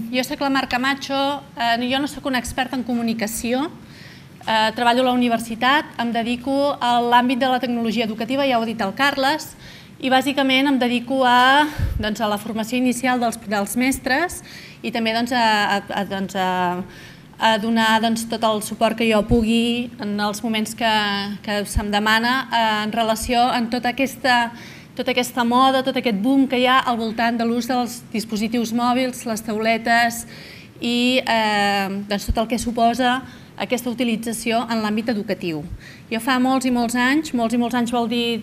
Jo soc la Mar Camacho, jo no soc una experta en comunicació, treballo a la universitat, em dedico a l'àmbit de la tecnologia educativa, ja ho ha dit el Carles, i bàsicament em dedico a la formació inicial dels mestres i també a donar tot el suport que jo pugui en els moments que se'm demana en relació amb tota aquesta moda, tot aquest boom que hi ha al voltant de l'ús dels dispositius mòbils, les tauletes i tot el que suposa aquesta utilització en l'àmbit educatiu. Jo fa molts i molts anys vol dir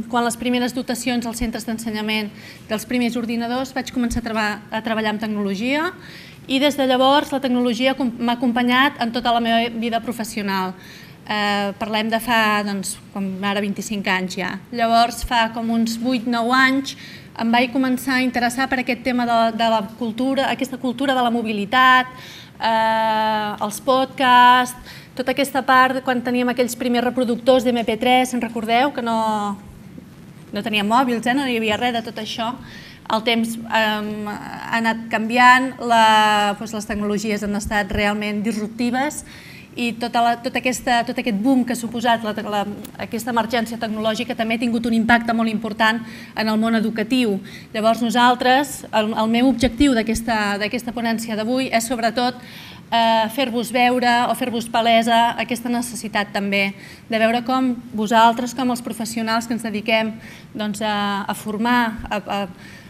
quan les primeres dotacions als centres d'ensenyament dels primers ordinadors vaig començar a treballar amb tecnologia i des de llavors la tecnologia m'ha acompanyat en tota la meva vida professional. Parlem de fa, ara 25 anys ja. Llavors, fa com uns 8-9 anys, em vaig començar a interessar per aquest tema de la cultura, aquesta cultura de la mobilitat, els podcasts, tota aquesta part, quan teníem aquells primers reproductors d'MP3, se'n recordeu? Que no teníem mòbils, no hi havia res de tot això. El temps ha anat canviant, les tecnologies han estat realment disruptives i tot aquest boom que ha suposat aquesta emergència tecnològica també ha tingut un impacte molt important en el món educatiu. Llavors nosaltres, el meu objectiu d'aquesta ponència d'avui és sobretot fer-vos veure o fer-vos palesa aquesta necessitat també de veure com vosaltres, com els professionals que ens dediquem a formar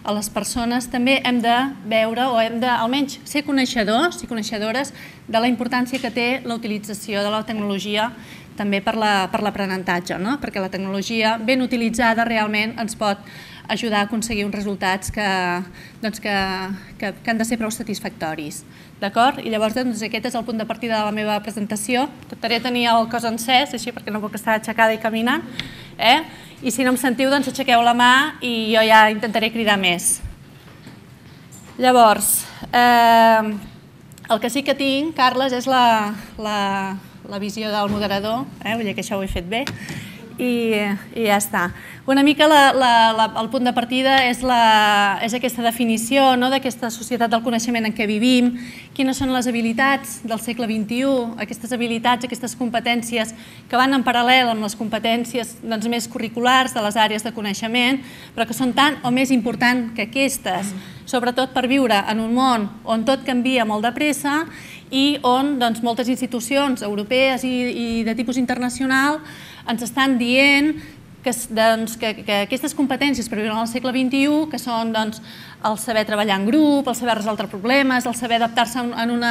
a les persones, també hem de veure o hem de almenys ser coneixedors i coneixedores de la importància que té la utilització de la tecnologia també per l'aprenentatge, perquè la tecnologia ben utilitzada realment ens pot ajudar a aconseguir uns resultats que han de ser prou satisfactoris. D'acord? I llavors aquest és el punt de partida de la meva presentació. Intentaré tenir el cos encès, així perquè no puc estar aixecada i caminant. I si no em sentiu, doncs aixequeu la mà i jo ja intentaré cridar més. Llavors, el que sí que tinc, Carles, és la visió del moderador, vull dir que això ho he fet bé, i ja està. Una mica el punt de partida és aquesta definició d'aquesta societat del coneixement en què vivim, quines són les habilitats del segle XXI, aquestes habilitats, aquestes competències que van en paral·lel amb les competències més curriculars de les àrees de coneixement, però que són tant o més importants que aquestes, sobretot per viure en un món on tot canvia molt de pressa i on moltes institucions europees i de tipus internacional ens estan dient que aquestes competències per viure en el segle XXI, que són el saber treballar en grup, el saber resoldre problemes, el saber adaptar-se en un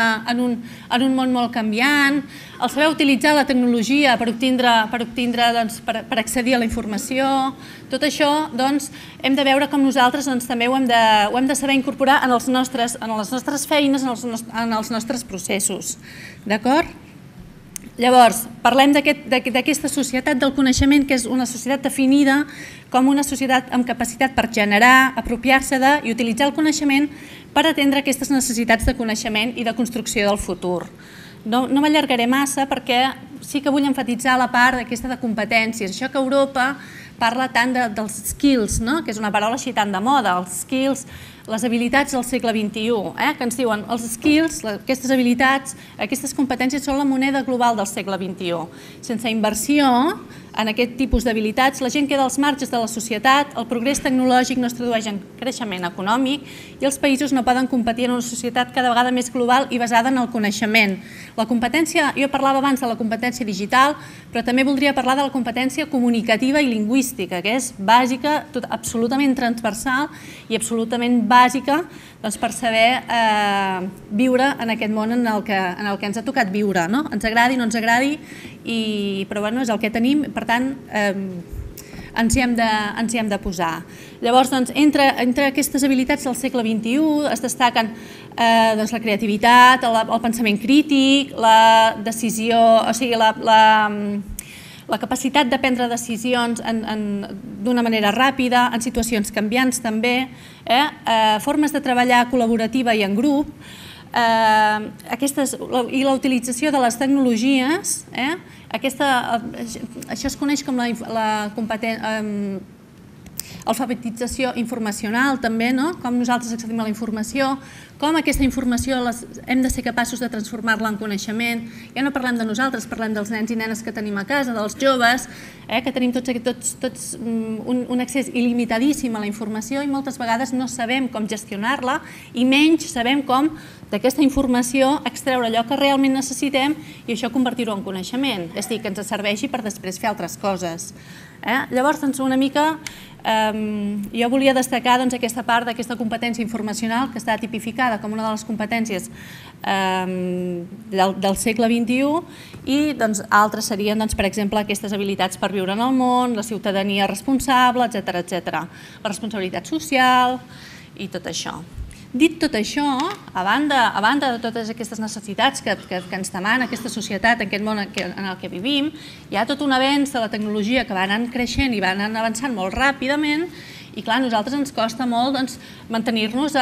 món molt canviant, el saber utilitzar la tecnologia per accedir a la informació, tot això hem de veure com nosaltres també ho hem de saber incorporar en les nostres feines, en els nostres processos. D'acord? Llavors, parlem d'aquesta societat del coneixement, que és una societat definida com una societat amb capacitat per generar, apropiar-se i utilitzar el coneixement per atendre aquestes necessitats de coneixement i de construcció del futur. No m'allargaré massa perquè sí que vull emfatitzar la part aquesta de competències. Això que Europa parla tant dels skills, que és una paraula així tan de moda, els skills, les habilitats del segle XXI, que ens diuen els skills, aquestes habilitats, aquestes competències són la moneda global del segle XXI. Sense inversió en aquest tipus d'habilitats, la gent queda als marges de la societat, el progrés tecnològic no es tradueix en creixement econòmic i els països no poden competir en una societat cada vegada més global i basada en el coneixement. La competència, jo parlava abans de la competència digital, però també voldria parlar de la competència comunicativa i lingüística, que és bàsica, absolutament transversal i absolutament bàsica per saber viure en aquest món en el que ens ha tocat viure. Ens agradi o no ens agradi, però és el que tenim, per tant ens hi hem de posar. Llavors, entre aquestes habilitats del segle XXI es destaquen la creativitat, el pensament crític, la decisió, o sigui, la capacitat de prendre decisions d'una manera ràpida, en situacions canviants també, formes de treballar col·laborativa i en grup, i la utilització de les tecnologies, això es coneix com alfabetització informacional també, com nosaltres accedim a la informació, com aquesta informació hem de ser capaços de transformar-la en coneixement. Ja no parlem de nosaltres, parlem dels nens i nenes que tenim a casa, dels joves, que tenim tots un accés il·limitadíssim a la informació i moltes vegades no sabem com gestionar-la i menys sabem com d'aquesta informació extreure allò que realment necessitem i això convertir-ho en coneixement, és a dir, que ens serveixi per després fer altres coses. Llavors, una mica, jo volia destacar aquesta part d'aquesta competència informacional que està tipificada com una de les competències del segle XXI i altres serien, per exemple, aquestes habilitats per viure en el món, la ciutadania responsable, etcètera, la responsabilitat social i tot això. Dit tot això, a banda de totes aquestes necessitats que ens demana aquesta societat, aquest món en el que vivim, hi ha tot un avenç de la tecnologia que va anant creixent i va anant avançant molt ràpidament i clar, a nosaltres ens costa molt mantenir-nos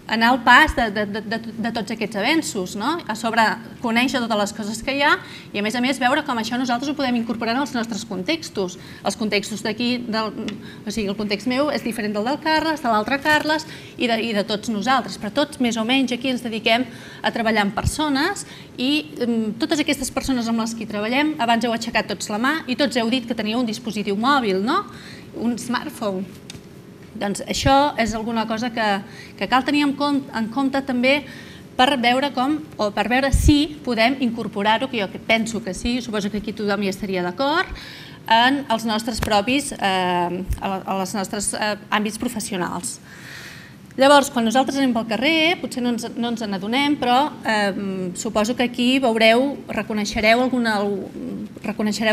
anar al pas de tots aquests avenços, a sobre conèixer totes les coses que hi ha i a més veure com això nosaltres ho podem incorporar en els nostres contextos. Els contextos d'aquí, o sigui, el context meu és diferent del Carles, de l'altre Carles i de tots nosaltres, però tots més o menys aquí ens dediquem a treballar amb persones i totes aquestes persones amb les que hi treballem, abans heu aixecat tots la mà i tots heu dit que teniu un dispositiu mòbil, un smartphone. Doncs això és alguna cosa que cal tenir en compte també per veure com, o per veure si podem incorporar-ho, que jo penso que sí, suposo que aquí tothom hi estaria d'acord, en els nostres propis àmbits professionals. Llavors, quan nosaltres anem pel carrer, potser no ens n'adonem, però suposo que aquí veureu, reconeixereu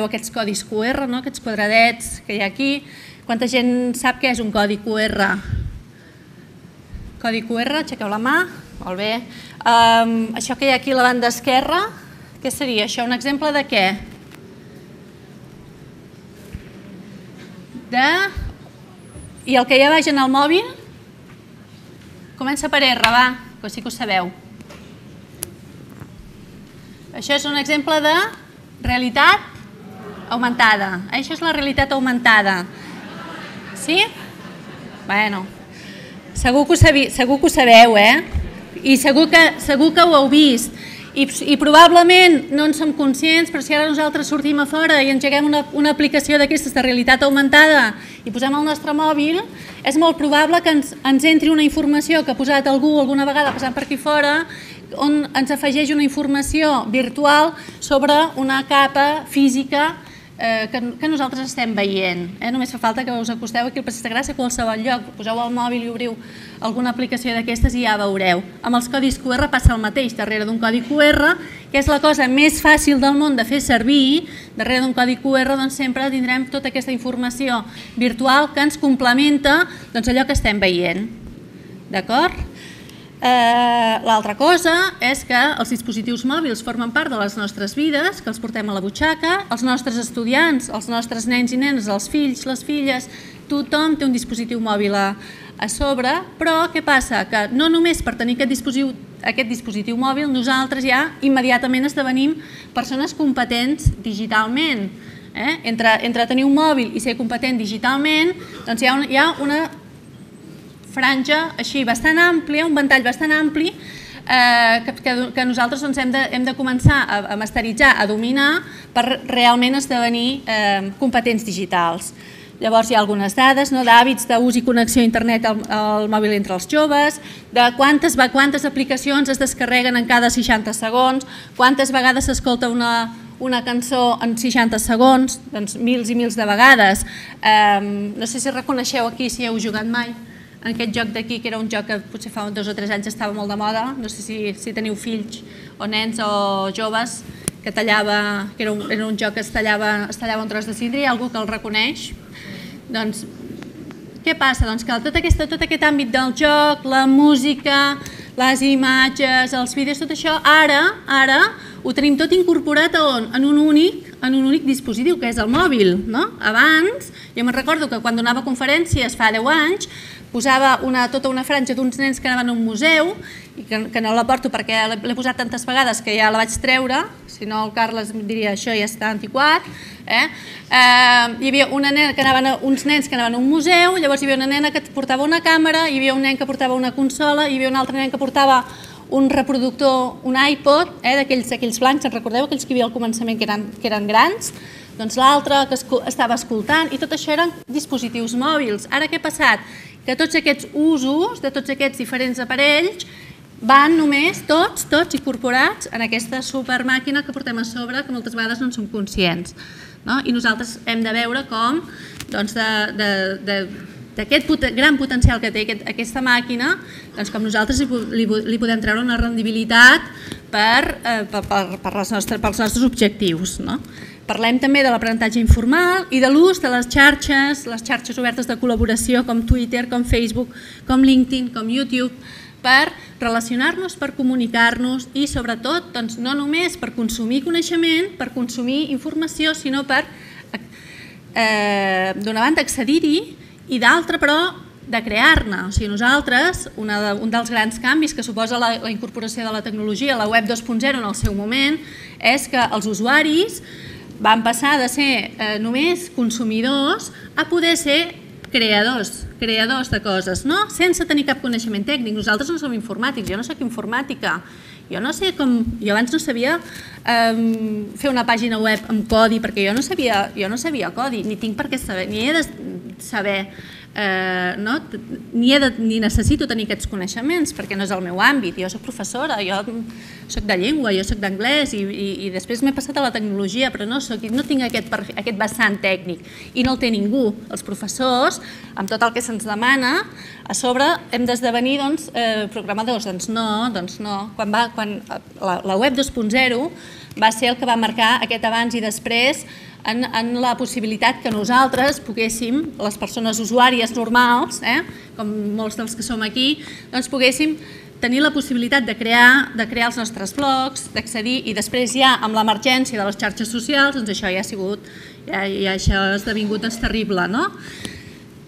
aquests codis QR, aquests quadradets que hi ha aquí. Quanta gent sap què és un codi QR? Codi QR, aixequeu la mà, molt bé. Això que hi ha aquí a la banda esquerra, què seria això? Un exemple de què? I el que hi ha baix en el mòbil? Comença per R, va, que sí que ho sabeu. Això és un exemple de realitat augmentada. Això és la realitat augmentada. Sí? Bueno, segur que ho sabeu, I segur que ho heu vist. I probablement no en som conscients, però si ara nosaltres sortim a fora i engeguem una aplicació d'aquestes de realitat augmentada i posem el nostre mòbil, és molt probable que ens entri una informació que ha posat algú alguna vegada passant per aquí fora on ens afegeix una informació virtual sobre una capa física que nosaltres estem veient. Només fa falta que us acosteu aquí al Passeig de Gràcia a qualsevol lloc, poseu el mòbil i obriu alguna aplicació d'aquestes i ja veureu. Amb els codis QR passa el mateix, darrere d'un codi QR, que és la cosa més fàcil del món de fer servir, darrere d'un codi QR sempre tindrem tota aquesta informació virtual que ens complementa allò que estem veient. D'acord? L'altra cosa és que els dispositius mòbils formen part de les nostres vides, que els portem a la butxaca, els nostres estudiants, els nostres nens i nenes, els fills, les filles, tothom té un dispositiu mòbil a sobre, però què passa? Que no només per tenir aquest dispositiu mòbil nosaltres ja immediatament esdevenim persones competents digitalment. Entre tenir un mòbil i ser competent digitalment doncs hi ha una franja així bastant àmplia, un ventall bastant ampli que nosaltres hem de començar a masteritzar, a dominar per realment esdevenir competents digitals. Llavors hi ha algunes dades d'hàbits d'ús i connexió a internet al mòbil entre els joves, de quantes aplicacions es descarreguen en cada 60 segons, quantes vegades s'escolta una cançó en 60 segons, doncs mils i mils de vegades. No sé si reconeixeu aquí si heu jugat mai en aquest joc d'aquí, que era un joc que potser fa 2 o 3 anys estava molt de moda, no sé si teniu fills o nens o joves, que era un joc que es tallava un tros de vidre, hi ha algú que el reconeix? Doncs què passa? Doncs que tot aquest àmbit del joc, la música, les imatges, els vídeos, tot això, ara ho tenim tot incorporat a on? En un únic dispositiu, que és el mòbil. Abans, jo me'n recordo que quan donava conferències fa 10 anys, posava tota una franja d'uns nens que anaven a un museu que no la porto perquè l'he posat tantes vegades que ja la vaig treure, si no el Carles em diria això ja està antiquat. Hi havia una nena que uns nens que anaven a un museu, llavors hi havia una nena que portava una càmera, hi havia un nen que portava una consola, hi havia un altre nen que portava un reproductor, un iPod, d'aquells blancs, en recordeu aquells que hi havia al començament que eren grans? Doncs l'altre que estava escoltant, i tot això eren dispositius mòbils. Ara què ha passat? Que tots aquests usos de tots aquests diferents aparells van només tots incorporats en aquesta supermàquina que portem a sobre, que moltes vegades no en som conscients. I nosaltres hem de veure com d'aquest gran potencial que té aquesta màquina, com nosaltres li podem treure una rendibilitat pels nostres objectius. Parlem també de l'aprenentatge informal i de l'ús de les xarxes obertes de col·laboració com Twitter, com Facebook, com LinkedIn, com YouTube, per relacionar-nos, per comunicar-nos i sobretot no només per consumir coneixement, per consumir informació, sinó per, d'una banda, accedir-hi i d'altra, però, de crear-ne. O sigui, nosaltres, un dels grans canvis que suposa la incorporació de la tecnologia, la web 2.0 en el seu moment, és que els usuaris van passar de ser només consumidors a poder ser creadors de coses, sense tenir cap coneixement tècnic. Nosaltres no som informàtics, jo no soc informàtica, jo abans no sabia fer una pàgina web amb codi, perquè jo no sabia codi, ni tinc per què saber, ni he de saber, ni necessito tenir aquests coneixements perquè no és el meu àmbit. Jo soc professora, jo soc de llengua, jo soc d'anglès i després m'he passat a la tecnologia, però no tinc aquest vessant tècnic i no el té ningú. Els professors, amb tot el que se'ns demana, a sobre hem d'esdevenir programadors. Doncs no. Quan la web 2.0 va ser el que va marcar aquest abans i després en la possibilitat que nosaltres poguéssim, les persones usuàries normals, com molts dels que som aquí, poguéssim tenir la possibilitat de crear els nostres blogs, d'accedir, i després ja amb l'emergència de les xarxes socials, doncs això ja ha sigut, ja això ha esdevingut terrible, no?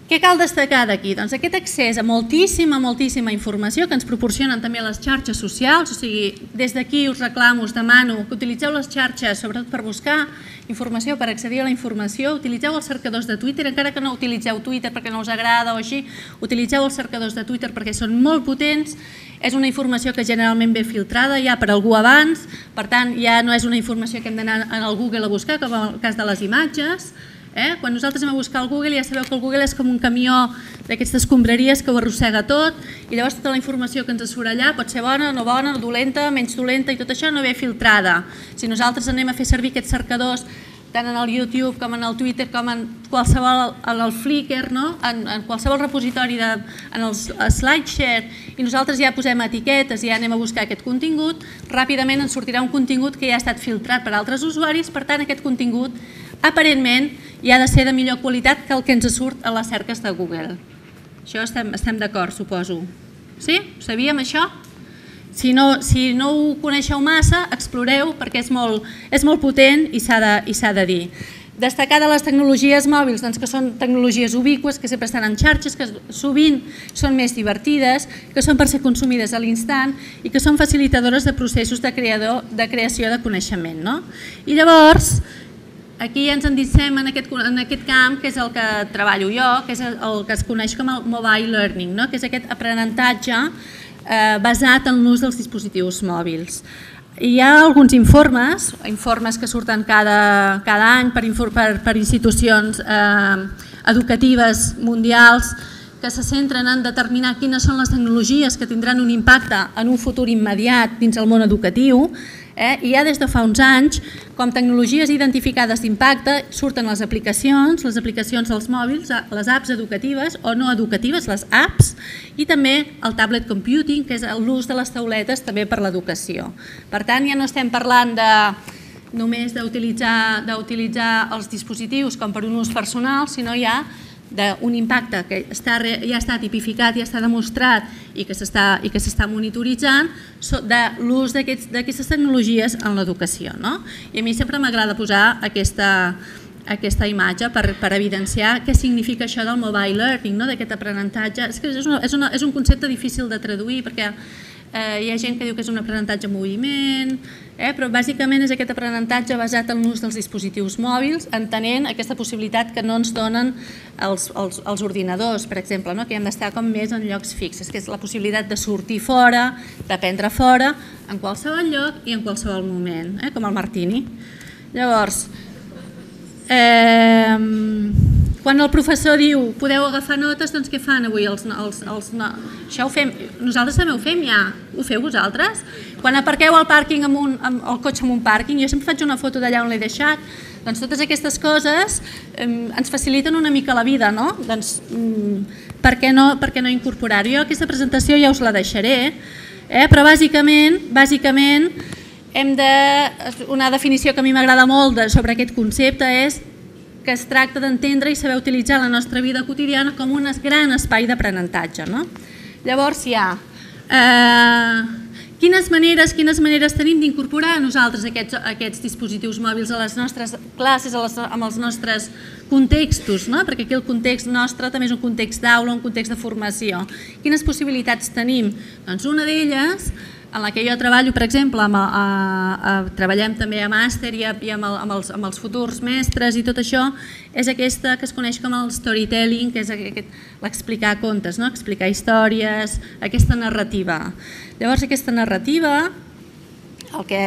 Què cal destacar d'aquí? Doncs aquest accés a moltíssima informació que ens proporcionen també les xarxes socials, o sigui, des d'aquí us reclamo, us demano que utilitzeu les xarxes sobretot per buscar informació, per accedir a la informació, utilitzeu els cercadors de Twitter, encara que no utilitzeu Twitter perquè no us agrada o així, utilitzeu els cercadors de Twitter perquè són molt potents, és una informació que generalment ve filtrada ja per algú abans, per tant ja no és una informació que hem d'anar al Google a buscar, com en el cas de les imatges. Quan nosaltres anem a buscar al Google ja sabeu que el Google és com un camió d'aquestes escombraries que ho arrossega tot i llavors tota la informació que ens surt allà pot ser bona, no bona, dolenta, menys dolenta i tot això no ve filtrada. Si nosaltres anem a fer servir aquests cercadors tant en el YouTube com en el Twitter com en qualsevol, en el Flickr, en qualsevol repositori, en els SlideShare, i nosaltres ja posem etiquetes i ja anem a buscar aquest contingut, ràpidament ens sortirà un contingut que ja ha estat filtrat per altres usuaris, per tant aquest contingut aparentment hi ha de ser de millor qualitat que el que ens surt a les cerques de Google. Això estem d'acord, suposo. Sí? Ho sabíem, això? Si no ho coneixeu massa, exploreu perquè és molt potent i s'ha de dir. Destacar de les tecnologies mòbils, que són tecnologies ubiqües, que sempre estan en xarxes, que sovint són més divertides, que són per ser consumides a l'instant i que són facilitadores de processos de creació de coneixement. I llavors, aquí ja ens endissem en aquest camp, que és el que treballo jo, que és el que es coneix com el mobile learning, que és aquest aprenentatge basat en l'ús dels dispositius mòbils. Hi ha alguns informes que surten cada any per institucions educatives mundials que se centren en determinar quines són les tecnologies que tindran un impacte en un futur immediat dins el món educatiu. I ja des de fa uns anys, com tecnologies identificades d'impacte, surten les aplicacions dels mòbils, les apps educatives o no educatives, les apps, i també el tablet computing, que és l'ús de les tauletes també per l'educació. Per tant, ja no estem parlant només d'utilitzar els dispositius com per un ús personal, sinó ja d'un impacte que ja està tipificat, ja està demostrat i que s'està monitoritzant de l'ús d'aquestes tecnologies en l'educació. I a mi sempre m'agrada posar aquesta imatge per evidenciar què significa això del mobile learning, d'aquest aprenentatge. És un concepte difícil de traduir perquè hi ha gent que diu que és un aprenentatge en moviment, però bàsicament és aquest aprenentatge basat en l'ús dels dispositius mòbils, entenent aquesta possibilitat que no ens donen els ordinadors, per exemple, que hem d'estar com més en llocs fixes, que és la possibilitat de sortir fora, d'aprendre fora, en qualsevol lloc i en qualsevol moment, com el Martini. Llavors, quan el professor diu podeu agafar notes, doncs què fan avui? Això ho fem, nosaltres també ho fem ja, ho feu vosaltres? Quan aparqueu al pàrquing el cotxe en un pàrquing, jo sempre faig una foto d'allà on l'he deixat, doncs totes aquestes coses ens faciliten una mica la vida, no? Doncs per què no incorporar-ho? Jo aquesta presentació ja us la deixaré, però bàsicament una definició que a mi m'agrada molt sobre aquest concepte és que es tracta d'entendre i saber utilitzar la nostra vida quotidiana com un gran espai d'aprenentatge. Llavors hi ha quines maneres tenim d'incorporar a nosaltres aquests dispositius mòbils a les nostres classes, amb els nostres contextos, perquè aquí el context nostre també és un context d'aula, un context de formació. Quines possibilitats tenim? Doncs una d'elles, en la que jo treballo, per exemple, treballem també a màster i amb els futurs mestres i tot això, és aquesta que es coneix com el storytelling, que és l'explicar contes, explicar històries, aquesta narrativa. Llavors aquesta narrativa, el que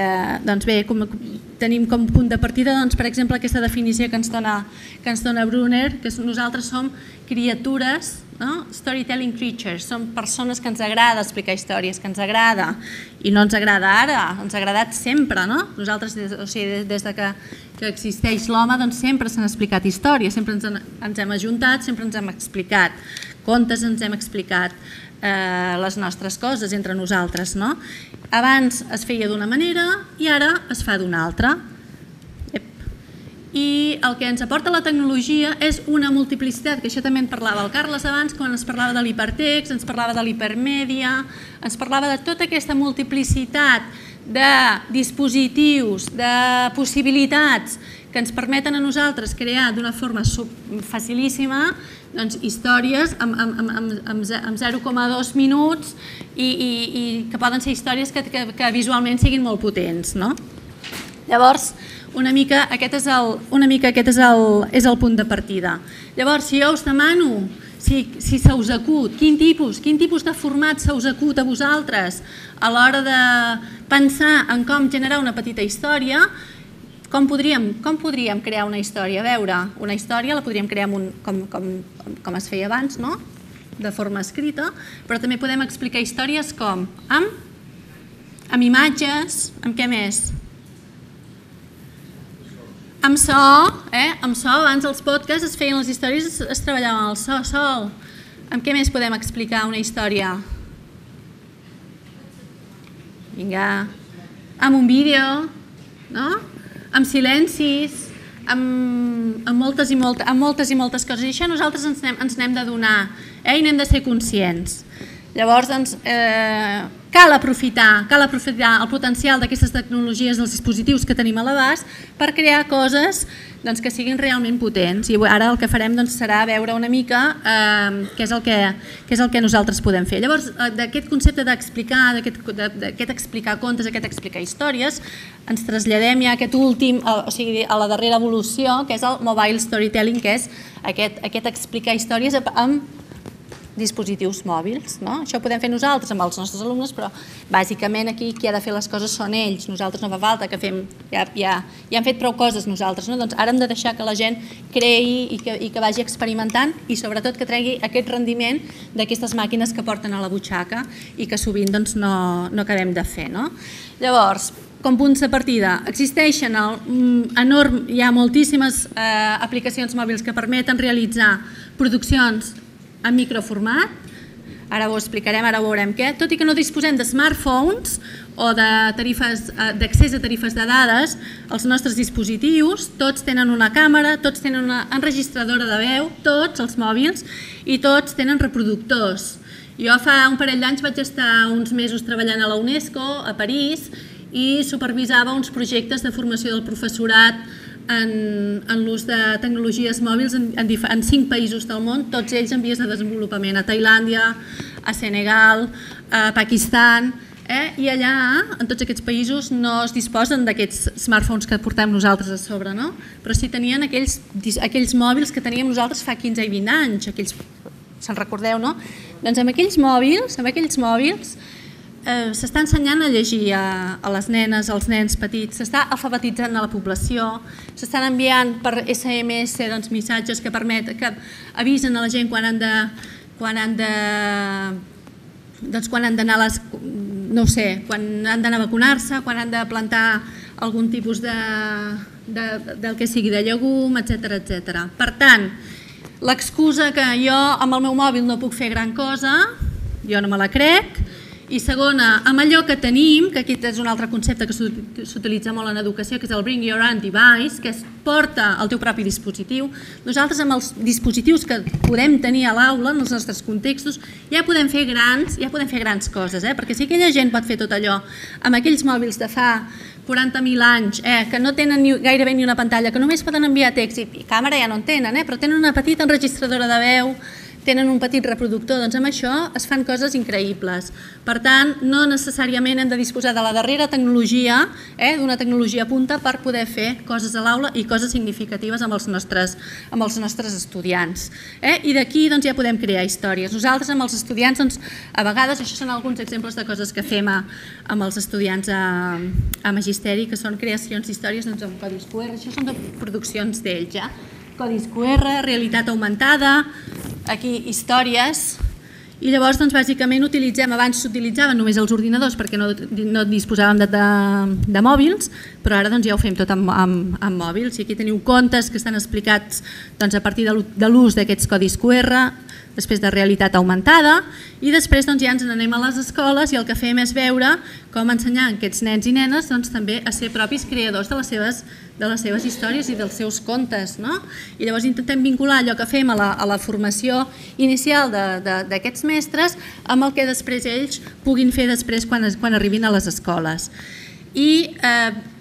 tenim com punt de partida, per exemple, aquesta definició que ens dona Brunner, que nosaltres som criatures, storytelling creatures, som persones que ens agrada explicar històries, que ens agrada, i no ens agrada ara, ens ha agradat sempre. Nosaltres, des que existeix l'home, sempre s'han explicat històries, sempre ens hem ajuntat, sempre ens hem explicat contes, ens hem explicat les nostres coses entre nosaltres. Abans es feia d'una manera i ara es fa d'una altra. I el que ens aporta la tecnologia és una multiplicitat, que això també en parlava el Carles abans, quan ens parlava de l'hipertext, ens parlava de l'hipermèdia, ens parlava de tota aquesta multiplicitat de dispositius, de possibilitats que ens permeten a nosaltres crear d'una forma facilíssima històries amb 0,2 minuts i que poden ser històries que visualment siguin molt potents. Llavors, una mica aquest és el punt de partida. Llavors, si jo us demano si se us acut, quin tipus de format se us acut a vosaltres a l'hora de pensar en com generar una petita història, com podríem crear una història? A veure, una història la podríem crear com es feia abans, de forma escrita, però també podem explicar històries com? Amb imatges, amb què més? Amb so, abans els podcasts es feien les històries, es treballaven el so. Amb què més podem explicar una història? Vinga, amb un vídeo, amb silencis, amb moltes i moltes coses. I això nosaltres ens n'hem de donar i n'hem de ser conscients. Llavors, cal aprofitar el potencial d'aquestes tecnologies, dels dispositius que tenim a l'abast, per crear coses que siguin realment potents. I ara el que farem serà veure una mica què és el que nosaltres podem fer. Llavors, d'aquest concepte d'explicar, d'aquest explicar contes, aquest explicar històries, ens traslladem ja a aquest últim, o sigui, a la darrera evolució, que és el mobile storytelling, que és aquest explicar històries amb dispositius mòbils. Això ho podem fer nosaltres amb els nostres alumnes, però bàsicament aquí qui ha de fer les coses són ells. Nosaltres no fa falta que fem, ja hem fet prou coses nosaltres. Doncs ara hem de deixar que la gent creï i que vagi experimentant i sobretot que tregui aquest rendiment d'aquestes màquines que porten a la butxaca i que sovint no acabem de fer. Llavors, com punts de partida, existeixen hi ha moltíssimes aplicacions mòbils que permeten realitzar produccions en microformat, ara ho explicarem, ara ho veurem què, tot i que no disposem de smartphones o d'accés a tarifes de dades, els nostres dispositius tots tenen una càmera, tots tenen una enregistradora de veu, tots els mòbils, i tots tenen reproductors. Jo fa un parell d'anys vaig estar uns mesos treballant a la UNESCO, a París, i supervisava uns projectes de formació del professorat en l'ús de tecnologies mòbils en 5 països del món, tots ells en vies de desenvolupament, a Tailàndia, a Senegal, a Pakistan, I allà, en tots aquests països, no es disposen d'aquests smartphones que portem nosaltres a sobre, no? Però sí tenien aquells mòbils que teníem nosaltres fa 15 i 20 anys, se'n recordeu, no? Doncs amb aquells mòbils s'està ensenyant a llegir a les nenes, als nens petits, s'està alfabetitzant a la població, s'estan enviant per SMS missatges que avisen a la gent quan han d'anar a vacunar-se, quan han de plantar algun tipus del que sigui de llegum, etc. Per tant, l'excusa que jo amb el meu mòbil no puc fer gran cosa, jo no me la crec. I segona, amb allò que tenim, que aquest és un altre concepte que s'utilitza molt en educació, que és el Bring Your Own Device, que es porta el teu propi dispositiu. Nosaltres amb els dispositius que podem tenir a l'aula, en els nostres contextos, ja podem fer grans coses, perquè si aquella gent pot fer tot allò amb aquells mòbils de fa 40.000 anys, que no tenen gairebé ni una pantalla, que només poden enviar text i càmera ja no en tenen, però tenen una petita enregistradora de veu, tenen un petit reproductor, doncs amb això es fan coses increïbles. Per tant, no necessàriament hem de disposar de la darrera tecnologia, d'una tecnologia punta per poder fer coses a l'aula i coses significatives amb els nostres estudiants. I d'aquí ja podem crear històries. Nosaltres amb els estudiants, a vegades, això són alguns exemples de coses que fem amb els estudiants a Magisteri, que són creacions d'històries amb codis QR, això són de produccions d'ells, codis QR, realitat augmentada, aquí històries, i llavors bàsicament abans s'utilitzaven només els ordinadors perquè no disposàvem de mòbils, però ara ja ho fem tot amb mòbils, i aquí teniu contes que estan explicats a partir de l'ús d'aquests codis QR, després de realitat augmentada, i després ja ens n'anem a les escoles i el que fem és veure com ensenyar aquests nens i nenes també a ser propis creadors de les seves històries i dels seus contes. I llavors intentem vincular allò que fem a la formació inicial d'aquests mestres amb el que després ells puguin fer després quan arribin a les escoles. I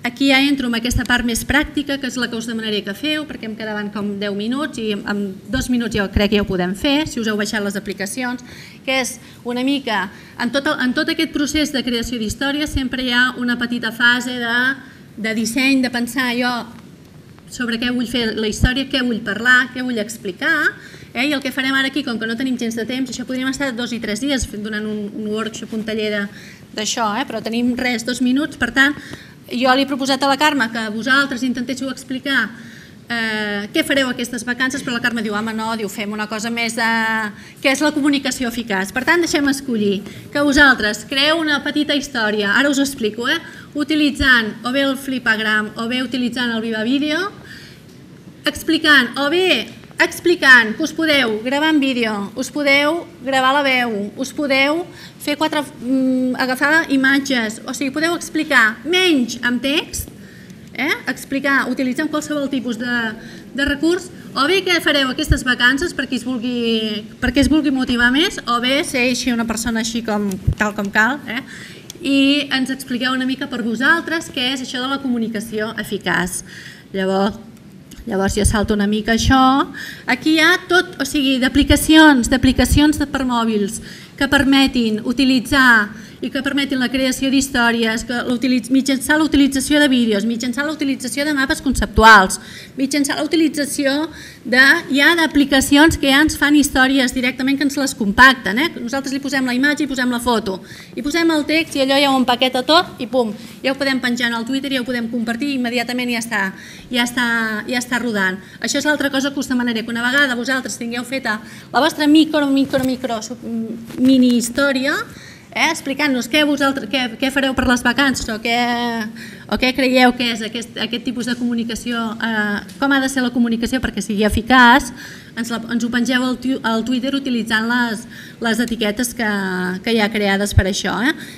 aquí ja entro en aquesta part més pràctica, que és la que us demanaré que feu, perquè em quedaven com 10 minuts i en 2 minuts jo crec que ja ho podem fer, si us heu baixat les aplicacions, que és una mica, en tot aquest procés de creació d'històries sempre hi ha una petita fase de disseny, de pensar jo sobre què vull fer la història, què vull parlar, què vull explicar, i el que farem ara aquí, com que no tenim gens de temps, això podríem estar 2 i 3 dies donant un workshop, un taller d'això, però tenim 2 minuts, per tant, jo li he proposat a la Carme que vosaltres intentéssiu explicar què fareu aquestes vacances, però la Carme diu, home, no, fem una cosa més de... què és la comunicació eficaç. Per tant, deixem escollir que vosaltres creeu una petita història, ara us ho explico, utilitzant o bé el Flipagram o bé utilitzant el Viva Vídeo, explicant que us podeu gravar en vídeo, us podeu gravar la veu, us podeu fer agafar imatges, o sigui, podeu explicar menys amb text, explicar, utilitzant qualsevol tipus de recurs, o bé què fareu aquestes vacances perquè es vulgui motivar més, o bé ser així una persona així tal com cal, i ens expliqueu una mica per vosaltres què és això de la comunicació eficaç. Llavors jo salto una mica això. Aquí hi ha tot, o sigui, d'aplicacions per mòbils que permetin utilitzar i que permetin la creació d'històries mitjançant la utilització de vídeos, mitjançant la utilització de mapes conceptuals, mitjançant la utilització d'aplicacions que ja ens fan històries directament, que ens les compacten. Nosaltres li posem la imatge i posem la foto, i posem el text i allò ja ho empaqueta tot i pum, ja ho podem penjar al Twitter, ja ho podem compartir i immediatament ja està rodant. Això és l'altra cosa que us demanaré, que una vegada vosaltres tingueu feta la vostra micro mini història, explicant-nos què fareu per les vacances o què creieu que és aquest tipus de comunicació, com ha de ser la comunicació perquè sigui eficaç, ens ho pengeu al Twitter utilitzant les etiquetes que hi ha creades per això.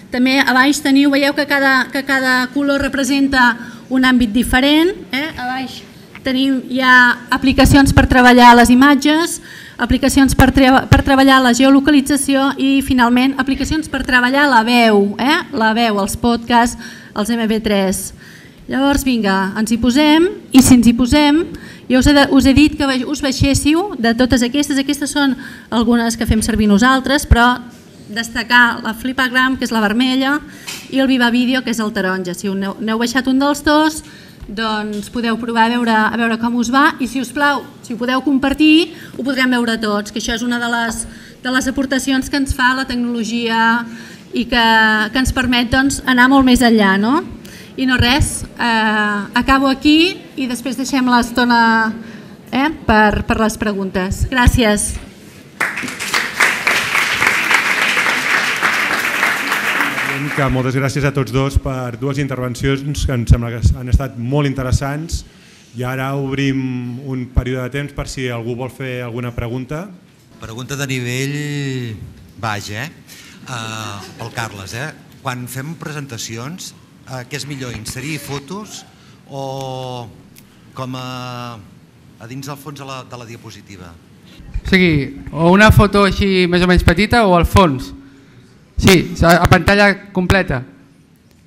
També a baix veieu que cada color representa un àmbit diferent. A baix hi ha aplicacions per treballar les imatges, aplicacions per treballar la geolocalització i, finalment, aplicacions per treballar la veu, els podcasts, els MP3. Llavors, vinga, ens hi posem, i si ens hi posem, jo us he dit que us baixéssiu de totes aquestes són algunes que fem servir nosaltres, però destacar la Flipagram, que és la vermella, i el Viva Vídeo, que és el taronja. Si n'heu baixat un dels dos, doncs podeu provar a veure com us va, i si us plau, si ho podeu compartir, ho podrem veure tots, que això és una de les aportacions que ens fa la tecnologia i que ens permet anar molt més enllà. I no res, acabo aquí i després deixem l'estona per les preguntes. Gràcies. Moltes gràcies a tots dos per dues intervencions que em sembla que han estat molt interessants, i ara obrim un període de temps per si algú vol fer alguna pregunta. Pregunta de nivell baix, pel Carles. Quan fem presentacions, què és millor, inserir fotos o com a dins del fons de la diapositiva? O sigui, o una foto així més o menys petita o al fons? Sí, a pantalla completa.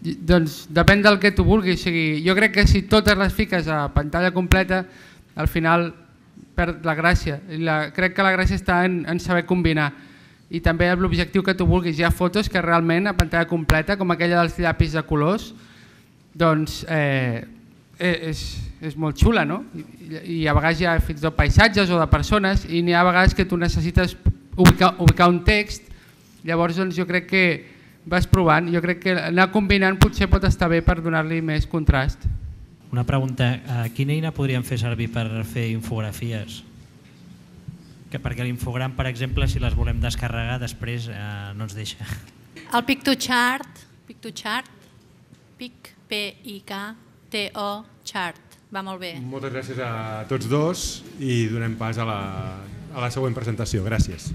Doncs depèn del que tu vulguis. Jo crec que si totes les fiques a pantalla completa, al final perd la gràcia. Crec que la gràcia està en saber combinar. I també l'objectiu que tu vulguis. Hi ha fotos que realment a pantalla completa, com aquella dels llapis de colors, doncs és molt xula, no? I a vegades hi ha fins i tot paisatges o de persones, i n'hi ha vegades que tu necessites ubicar un text. Llavors jo crec que vas provant, jo crec que anar combinant potser pot estar bé per donar-li més contrast. Una pregunta, quina eina podríem fer servir per fer infografies? Perquè l'infogram, per exemple, si les volem descarregar després no ens deixa. El Pic2Chart, P-I-K-T-O Chart, va molt bé. Moltes gràcies a tots dos i donem pas a la següent presentació. Gràcies.